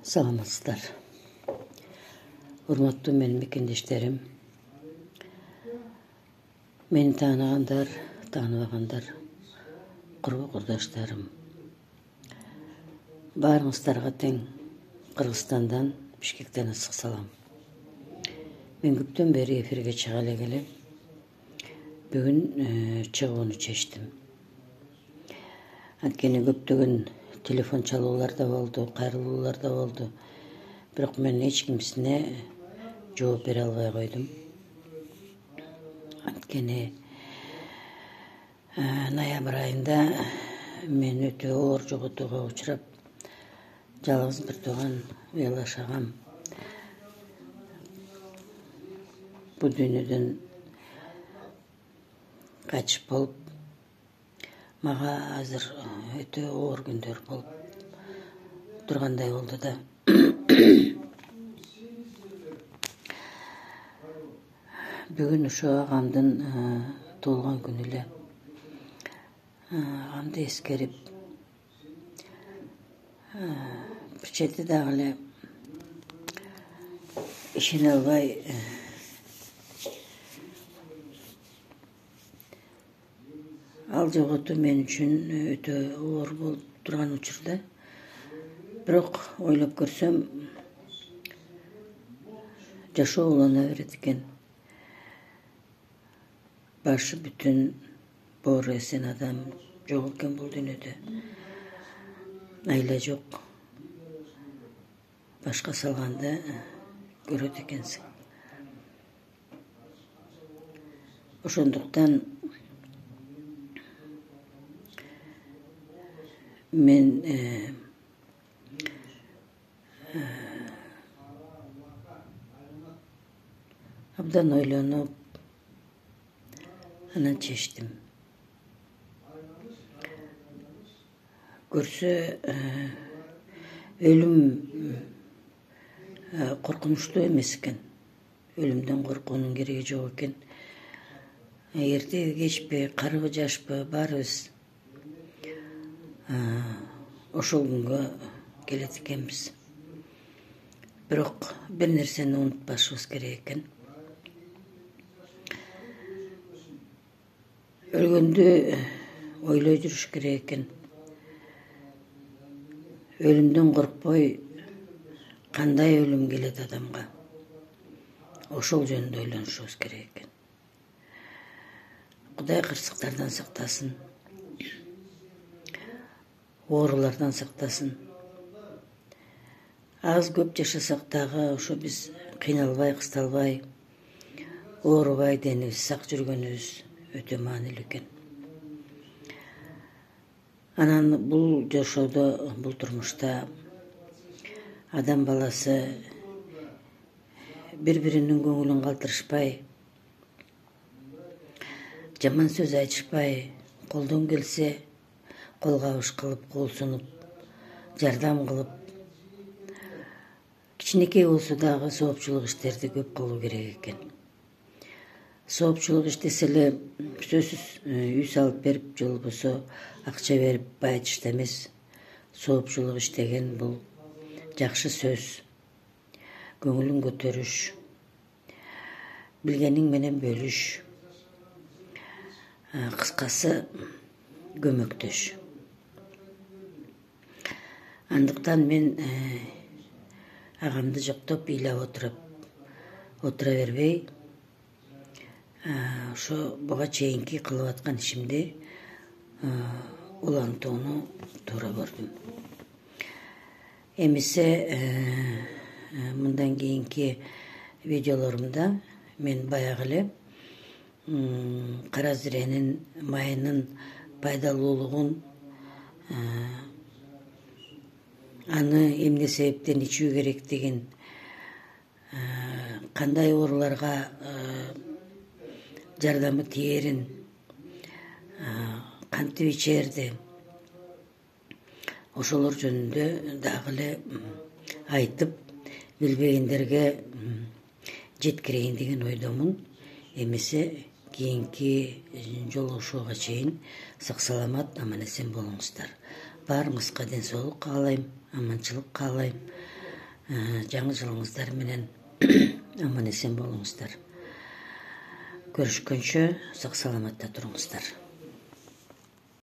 Саламатсыздар. Урматтуу менин мекендештерим, мени тааныгандар, тааныбагандар, курбу курдаштарым. Баарыңыздарга тең Кыргызстандан, Бишкектен ысык салам. Мен көптөн бери эфирге чыга элек бүгүн чыгууну чечтим. Анткени көптөгөн телефон чалуулар да болду, кайрылуулар да болду. Бирок мен эч кимсине жооп бере албай койдум. Анткени ноябрь айында мен өтө оор жоготууга учурап, жалгыз бир тууган ыялаш агам бул дүйнөдөн качып болуп, мага азыр өтө оор күндөр болуп тургандай болду да. Бүгүн ошо агамдын туулган күнү эле. Агамды эскерип, бир чети дагы эле ишене албай ал жоготуу мен үчүн өтө оор болуп турган учурда. Бирок ойлоп көрсөм, жашоо улана берет экен. Башы бүтүн, боору эсен адам жок экен бул дүйнөдө. Айла жок. Башка салганды көрөт экенсиң. Ошондуктан мен абдан ойлонуп, анан чечтим. Көрсө, өлүм коркунучтуу эмес экен. Өлүмдөн коркуунун кереги жок экен. Эртеби кечпи, карыбы жашпы, баарыбыз ошол күнгө келет экенбиз. Бирок бир нерсени унутпашыбыз керек экен. Өлгөндү ойлой жүрүш керек экен. Өлүмдөн коркпой, кандай өлүм келет адамга? Ошол жөнүндө ойлонушубуз керек экен. Кудай кырсыктардан сактасын, оорулардан сактасын. Аз көп жашасак дагы ошо биз кыйналбай, кысталбай, оорубай, денибиз сак жүргөнүбүз өтө маанилүү экен. Анан бул жашоодо, бул турмушта адам баласы бири-биринин көңүлүн калтырышпай, жаман сөз айтышпай, колдон келсе кол кабыш кылып, кол сунуп, жардам кылып, кичинекей болсо дагы соопчулук иштерди көп кылуу керек экен. Соопчулук иштесе эле сөзсүз үй салып берип, же болбосо акча берип байытышта эмес. Соопчулук иштеген бул жакшы сөз, көңүлүн көтөрүш, билгениң менен бөлүш, кыскасы көмөктөш. Андыктан мен агамды жоктоп, ыйлап отура бербей, ошо буга чейинки кылып аткан ишимди улантууну туура көрдүм. Эмесе мындан кийинки видеолорумда мен баягы эле кара зиренин майынын пайдалуулугун, аны эмне себептен ичүү керектигин, кандай ооруларга жардамы тиерин, кантип ичерди, ошолор жөнүндө дагы эле айтып, билбегендерге жеткирейин деген ойдомун. Эмесе кийинки жолугушууга чейин сак саламат, аман эсен болуңуздар. Баарыңызга ден соолук каалайм, аманчылык каалайм. жаңы жылыңыздар менен аман эсен болуңуздар. Көрүшкөнчө сак саламатта туруңуздар.